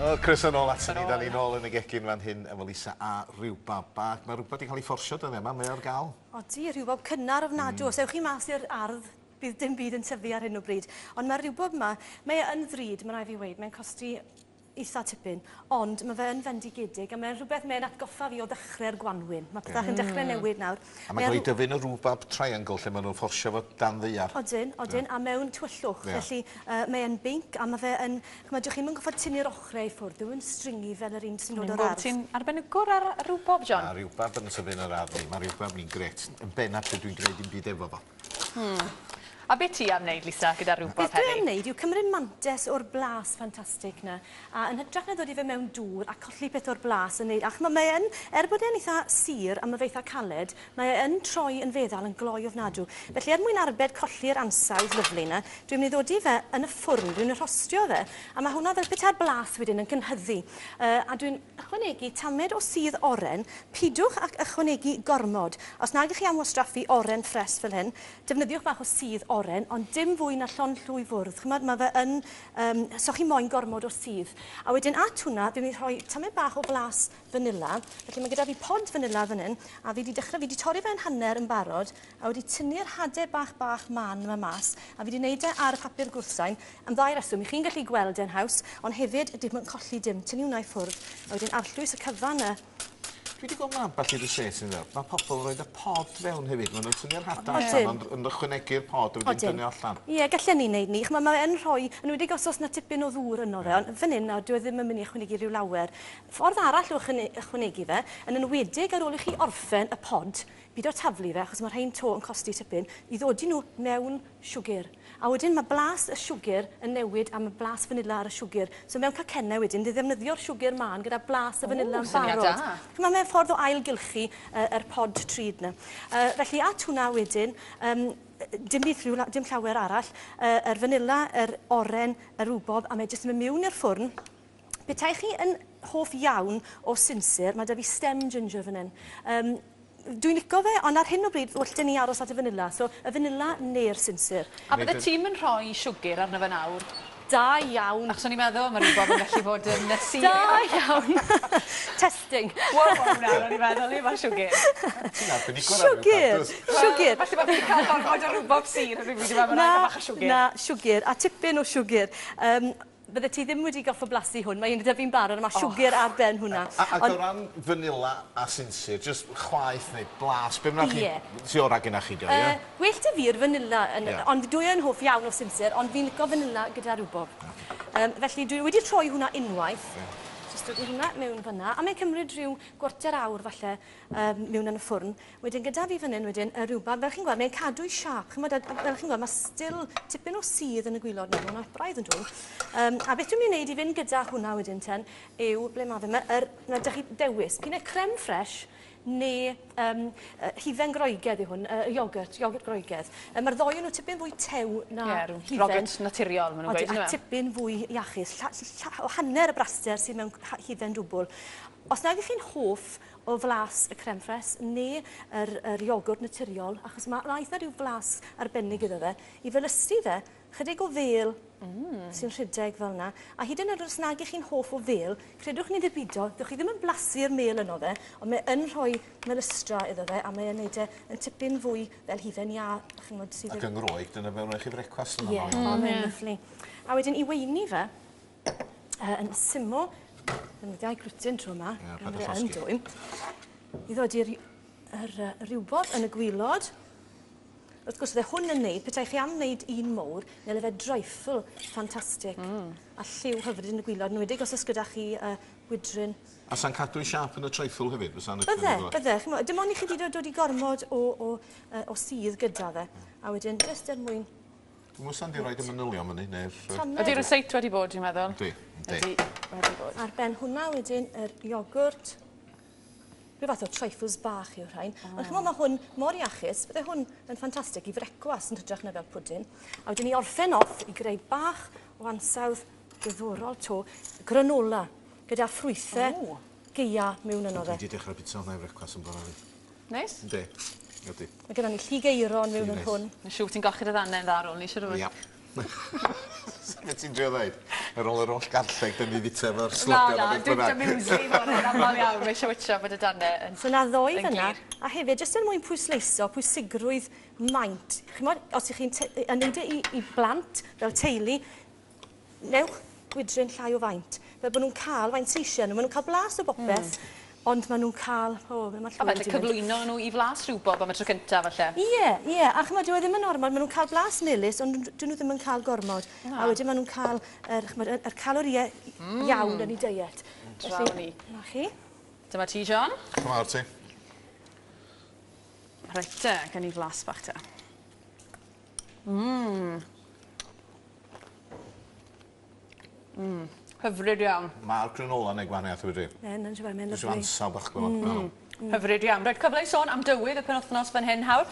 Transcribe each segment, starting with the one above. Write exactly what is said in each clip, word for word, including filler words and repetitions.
O, croeso nôl aton ni, da ni nôl yn y gegin fan hyn efo Lisa a rhiwbab bach. Mae rhywbeth wedi cael ei fforsio dyddiau yma, mae ar gael. Odi, rhiwbab cynnar ofnadw. Mm. Os ewch chi mas i'r ardd, bydd dim byd yn tyfu ar hyn o bryd. Ond mae'r rhiwbab yma, mae e yn ddrud, mae rhaid fi weud, mae'n costi eitha tipyn, ond mae fe yn fendigedig a mae'n rhywbeth mae'n atgoffa fi o ddechrau'r gwanwyn. Mae pethau yn dechrau newid nawr. A mae'n cael ei dyfu yn y rhwbab triangle lle maen nhw'n fforsio fo dan ddaear. Odyn, odyn, a mewn tywyllwch. Yeah. Felly uh, mae e'n binc a mae fe yn... Ch'mod, dych chi'm yn gorfod tynnu'r ochrau i ffwrdd, dyw e'n stringy fel yr un sy'n dod o'r ardd. Ti'n arbenigwr ar rwbob, John? A rhywbab yn tyfu yn yr ardd ni. Mae rhywbab ni'n gret. Yn benna pryd dwi'n gwneud dim byd efo fo. Hmm. A beth ti am wneud, Lisa, gyda rhywbeth Beth dwi am heddi? wneud yw cymryd mantes o'r blas ffantastig na, a yn hytrach na ddod i fe mewn dŵr a colli peth o'r blas yn neud, ac mae yn, er bod e'n eitha sur a mae fe eitha caled, mae e yn troi yn feddal yn gloi ofnadw. Felly er mwyn arbed colli'r ansawdd lyfli na, dwi'n mynd i ddod i fe yn y ffwrn, dwi'n mynd i rhostio fe, a mae hwnna fel petai'r blas wedyn yn cynhyddu. Uh, a dwi'n ychwanegu tamed o sudd oren, pidwch ac ychwanegu gormod. Os nag ych chi am wastraffu oren ffres fel hyn, defnyddiwch bach o sudd oren, ond dim fwy na llond llwy fwrdd. Ch'mod, mae fe yn, um, so chi moyn gormod o sudd. A wedyn at hwnna, fi'n mynd i rhoi tamed bach o flas vanilla. Felly mae gyda fi pod vanilla fan hyn, a fi wedi dechrau, fi wedi torri fe yn hanner yn barod, a wedi tynnu'r hadau bach bach man yma mas, a fi wedi gwneud e ar y papur gwrthsain, am ddau reswm. I chi'n gallu gweld e'n haws, ond hefyd dim yn colli dim. Tynnu hwnna i ffwrdd, a wedyn arllwys y cyfan yna. Dwi wedi gweld ma ambell i rysáit yn dweud. Mae pobl yn rhoi y pod fewn hefyd. Maen nhw'n tynnu'r hadau Odyn. allan, ond yn ychwanegu'r pod a wedyn Odyn. dynnu allan. Ie, gallen ni wneud ni. Ch'mod, mae e'n rhoi, yn enwedig os oes 'na tipyn o ddŵr yno fe, ond fan hyn nawr, dyw e ddim yn mynd i ychwanegu rhyw lawer. Ffordd arall o ychwane- ychwanegu fe, yn enwedig ar ôl i chi orffen y pod, byd o taflu fe, achos mae rhain to yn costi tipyn, i ddodi nhw mewn siwgr. A wedyn mae blas y siwgr yn newid a mae blas vanilla ar y siwgr. So mewn cacennau wedyn, di ddefnyddio'r siwgr mân gyda blas y vanilla yn syniad barod. da. Ch'mod, mae'n ffordd o ailgylchu uh, yr pod trud 'na. Uh, felly at hwnna wedyn, um, dim byd rhyw, dim llawer arall, uh, yr vanilla, yr oren, y rwbob, a mae jyst yn mynd mewn i'r ffwrn. Petai chi yn hoff iawn o sinsir, mae 'da fi stem ginger fan hyn. Um, dwi'n licio fe, ond ar hyn o bryd, well 'da ni aros at y vanilla. So, y vanilla neu'r sinsir. A bydde ti'n yn rhoi siwgr arno fe nawr? Da iawn. Achos o'n i'n meddwl, mae rhywbeth yn gallu bod yn sur. Da iawn. Testing. Wow, wow, nawr, o'n i'n meddwl, i mae siwgr. Ti'n arbenigwr ar Siwgr. rhywbeth, Siwgr. Falle bod fi'n cael gormod o rhywbeth sur, rhywbeth dwi'n meddwl, Na, bach o siwgr. na, siwgr, a tipyn o siwgr. Um, bydde ti ddim wedi goffo blasu hwn, mae un gyda fi'n barod, a mae siwgr ar ben hwnna. A, ac o Ond- ran vanilla a sinsir, just chwaeth neu blas, be bynnag chi, Ie. sy ora gyda chi, dio, ie? Uh, well 'da fi'r vanilla, yn, Ie. ond dwi yn hoff iawn o sinsir, ond fi'n licio vanilla gyda rwbob. Um, felly dwi wedi troi hwnna unwaith. Jyst dod i hwnna mewn fyna, a mae'n cymryd rhyw gwarter awr falle um, mewn yn y ffwrn. Wedyn gyda fi fan hyn wedyn y rwbab, fel chi'n gweld, mae'n cadw'i siâp. Ch'mod, a- a fel chi'n gweld, mae still tipyn o sudd yn y gwilod nawr, mae'n braidd yn dwym. Um, a beth dwi'n mynd i wneud i fynd gyda hwnna wedyn ten, yw, ble mae fe, mae, er, ma 'da chi dewis, p'un ai creme fraiche neu um, uh, hufen Groegaidd yw hwn, uh, iogurt, iogurt Groegaidd. Uh, Mae'r ddoi o'n nhw tipyn fwy tew na Ie, rhyw hufen. Rogurt naturiol, maen nhw'n Odi, gweud, a yndyfe? tipyn fwy iachus. Lla, lla, o hanner y braster sydd mewn ha- hufen dwbl. Os nag ych chi'n hoff o flas y creme fraiche neu yr, yr iogwrt naturiol, achos mae ma eitha rhyw flas arbennig iddo fe, i felysu fe, chydig o fêl mm. sy'n rhedeg fel yna. A hyd yn oed os nag ych chi'n hoff o fêl, credwch ni ddibido, ddewch chi ddim yn blasu'r mêl yno fe, ond mae yn rhoi melystra iddo fe, a mae yn neud e yn tipyn fwy fel hufen iâ, chi'n gwbod, sydd Ac yng Ngroeg, dyna fe wnaeth chi frecwast yna. Ie, yeah, mm. mae'n lyfli. A wedyn i weini fe, uh, yn syml, defnyddiau glwtyn tro yma, Ie, gan paid â fod e yn llosgi. dwym, i ddod i'r yr, uh, rywbob yn y gwilod. Wrth gwrs, fydde hwn yn neud, petai chi am wneud un mowr, neu fe dreiffl ffantastig. Mm. A lliw hyfryd yn y gwilod, yn enwedig os oes gyda chi uh, wydryn. A sa'n cadw i siâp yn y treiffl hefyd? Fysa'n Bydde, bydde. Ch'mo', dim ond i chi 'di dod i gormod o, o, uh, o sudd gyda fe. A wedyn, jyst er mwyn Dwi'n meddwl sa'n di roed y manylion fyny, neu'r... tamed. Ydy'r ryseit wedi bod, dwi'n meddwl? Yndi, yndi. Ydy wedi bod. Ar ben hwnna wedyn yr iogwrt. Rhyw fath o trifles bach yw'r rhain. Oh. Ond ch'mod, mae hwn mor iachus, bydde hwn yn ffantastig i frecwas yn hytrach na fel pwdin. A wedyn i orffen off i greu bach o ansawdd diddorol to, granola gyda ffrwythau O. gaea mewn yno fe. Dwi wedi dechrau bita hwnna i frecwas yn bore fi. Neis? Yndi, yndi. Mae gyda ni lligeiron mewn yn Neis. hwn. Mae'n siŵr ti'n golchi dy ddannedd dda ar ôl ni, siŵr o fod. Ia. Beth ti'n drio ddeud? Ar ôl yr holl garlleg, dyn ni fita efo'r Na, slodion na, a beth dwi'n bynnag. muesli fo'n aml iawn. Mae eisiau wytio bod y danne yn So na ddoi yn fyna, glir. a hefyd, jyst er mwyn pwysleiso pwysigrwydd maint. Chimod, os ych chi'n yn neud e i, i blant fel teulu, newch gwydryn llai o faint. Fel bod nhw'n cael faint sy eisiau nhw. Maen nhw'n cael blas o bopeth, mm. ond maen nhw'n cael... O, oh, mae A falle cyflwyno nhw i flas rhywbob am y tro cyntaf, falle. Ie, ie, a chymod, dyw e ddim yn ormod, maen nhw'n cael blas melys, ond dyn nhw ddim yn cael gormod. Na. A wedyn maen nhw'n cael yr, chymod, yr, yr caloriau mm. iawn yn eu diet. Draw ni. Na chi. Dyma ti, John. Come ar ti. Reit te, gen i flas bach te. Mmm. Mmm. Hyfryd iawn. Mae'r granola yn ei gwahaniaeth wedi. Yn, yn siŵr, mae'n Dwi'n lyfli. ansawdd bach gwybod. Mm. Mm. Hyfryd iawn. Reit, cyfle i sôn am dywydd y penwythnos fan hyn hawr.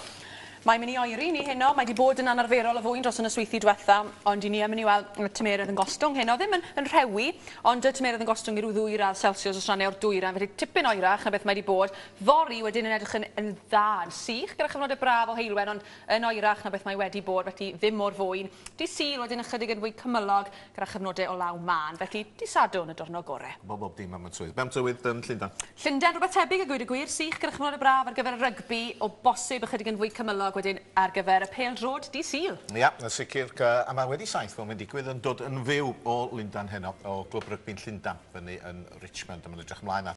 Mae'n mynd i oeri ni heno, mae wedi bod yn anarferol o fwyn dros y nosweithi diwetha, ond i ni yn mynd i weld y tymeredd yn gostwng heno. Ddim yn, yn rhewi, ond y tymeredd yn gostwng i ryw ddwy radd Celsius os rhannau o'r dwyrain, felly tipyn oerach na beth mae wedi bod. Fory wedyn yn edrych yn, yn dda, yn sych, gyda chyfnodau braf o heulwen, ond yn oerach na beth mae wedi bod, felly ddim mor fwyn. Di Sul wedyn ychydig yn fwy cymylog gyda chyfnodau o law mân, felly di Sadwrn y diwrnod gore. Bob bob dim am y tywydd. Be am tywydd yn Llundain? Llundain, rhywbeth tebyg a gweud y gwir, sych gyda chyfnodau braf ar gyfer y rygbi, o bosib ychydig yn fwy cymylog wedyn ar gyfer y pêl-droed di Sul. Ia, yn sicr, a mae wedi saith fel mae'n digwydd yn dod yn fyw o Lundain heno, o Glwb Rygbi'n Llundain, fyny yn Richmond, a mae'n edrych ymlaen at